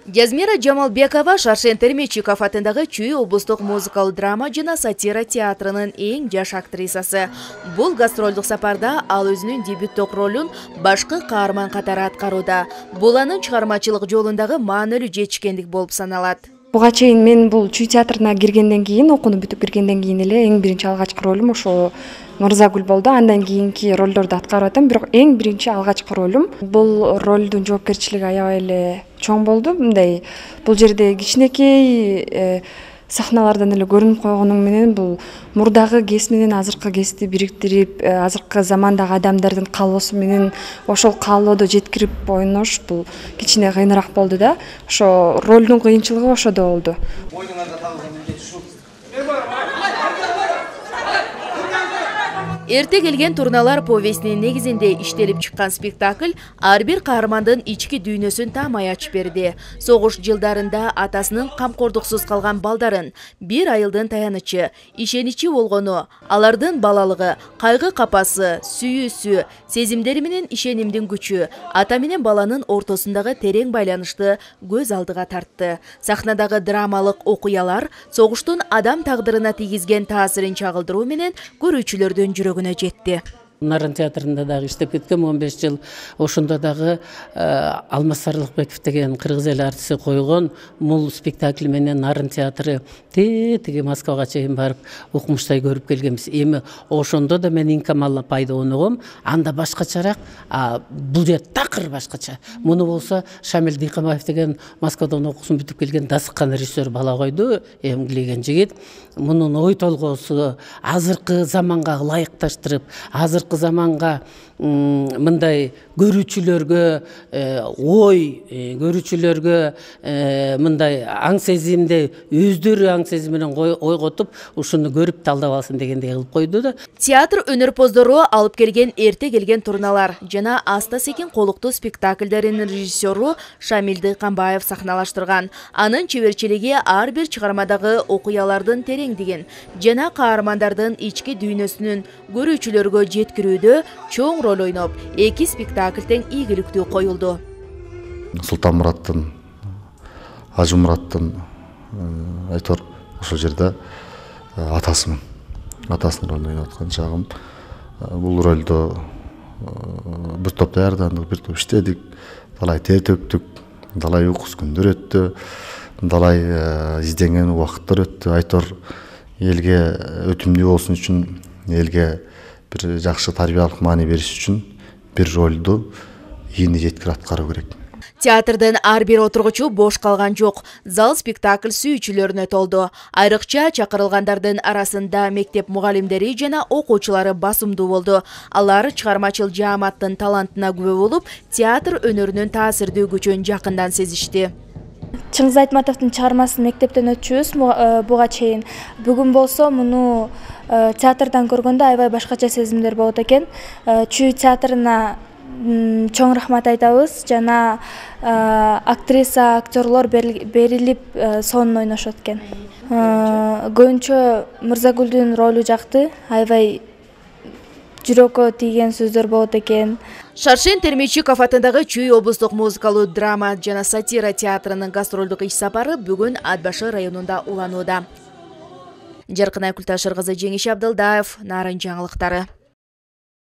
Жазмира Жамалбекова Шаршен Термечиков атындагы Чүй облустук музыкалык драма жана сатира театрынын эң жаш актрисасы. Бул гастролдук сапарда ал өзүнүн дебюттук ролун башкы каарман катары аткарууда. Бул анын чыгармачылык жолундагы маанилүү жетишкендик болуп саналат. Буга чейин мен бул Чүй театрына киргенден кийин, окууну бүтүп киргенден кийин эле эң биринчи алгачкы ролум ошо Мырзагүл болду. Андан кийинки ролдорду аткарып атам, бирок эң биринчи алгачкы ролум. Бул ролдун жоопкерчилиги аябай эле чоң болду. Мындай бул жерде кичинекей сахналардан эле көрүнүп койгонум менен бул мурдагы кез менен азыркы кезди бириктирип, азыркы замандагы адамдардын каалоосу менен ошол каалоодо жеткирип ойнош бул кичине кыйыныраак болду да. Ошо ролдун кыйынчылыгы ошодо болду. Эрте келген турналар повестинин негизинде иштелип чыккан спектакль ар бир каармандын ички дүйнөсүн таамай ачып берди. Согуш жылдарында атасынын камкордуксуз калган балдарын, бир айылдын таянычы, ишеничи болгону, алардын балалыгы, кайгы капасы, сүйүүсү, сезимдери менен ишенимдин күчү, ата менен баланын ортосундагы терең байланышты көз алдыга тартты. Сахнадагы драмалык окуялар согуштун адам тагдырына тийгизген таасирин чагылдыруу менен көрүүчүлөрдүн жүрөгүнө жетти. Нарын театрында дагы иштеп кеткем 15 жыл. Ошондо дагы Алмаз Сарылыкбеков деген кыргыз эл артиси койгон мул спектакль менен Нарын театры тиги Москвага чейин барып укмуштай көрүп келгенбиз. Эми ошондо да мен Инкамал апайды оногом, анда башкачараак, бул жер такыр башкача. Муну болсо Шамил Дыйкамаев деген Москвадан окуусун бүтүп келген дасыккан режиссер бала койду, эмгилеген жигит. Мунун ой толгоосу азыркы заманга ылайыкташтырып, азыркы заманга мындай көрүүчүлөргө ой, көрүүчүлөргө мындай аң сезимди өздөрү аң сезим менен ойготуп, ушуну көрүп талдап алсын дегендей кылып койду да. Театр өнөрпоздору алып келген эрте келген турналар жана аста секин колуктуу спектакльдеринин режиссеру Шамил Дыйкамбаев сахналаштырган. Анын чеберчилиги ар бир чыгармадагы окуялардын тереңдигин жана каармандардын ички дүйнөсүнүн көрүүчүлөргө жеткирүүдө чоң роль ойноп, эки спектакль тең ийгиликтүү коюлду. Султанмураттын, Ажымураттын айтор ошол жерде атасымын. Атасынын ролун ойноп аткан чагым. Бул ролдо бир топ даярдандык, бир топ иштедик, талай тер төктүк, талай уйкусуз күндөр өттү, талай изденген убакыттар өттү. Айтор элге өтүмдүү болсун үчүн, элге бир жакшы тарбиялык маани бериш үчүн бир ролду ийини жеткирип аткаруу керек. Театрдын ар бир отургучу бош калган жок. Зал спектакль сүйүүчүлөрүнө толду. Айрыкча чакырылгандардын арасында мектеп мугалимдери жана окуучулары басымдуу болду. Алар чыгармачыл жааматтын талантына күбө болуп, театр өнөрүнүн таасирдүү күчүн жакындан сезишти. Чыңгыз Айтматовдун чыгармасын мектептен өтчүбүз буга чейин. Бүгүн болсо муну театрдан көргөндө аябай башкача сезимдер болот экен. Чүй театрына чоң рахмат айтабыз жана актриса, актерлор берилип сонун ойношот экен. Көбүнчө Мырзагүлдүн ролу жакты, аябай жүрөккө тийген сөздөр болот экен. Шаршен Термечиков атындагы Чүй облустук музыкалык драма жана сатира театрынын гастролдук иш сапары бүгүн Атбашыр районунда уланууда. Жаркынай Култашыр кызы, Жеңиш Абдылдаев, Нарын жаңылыктары.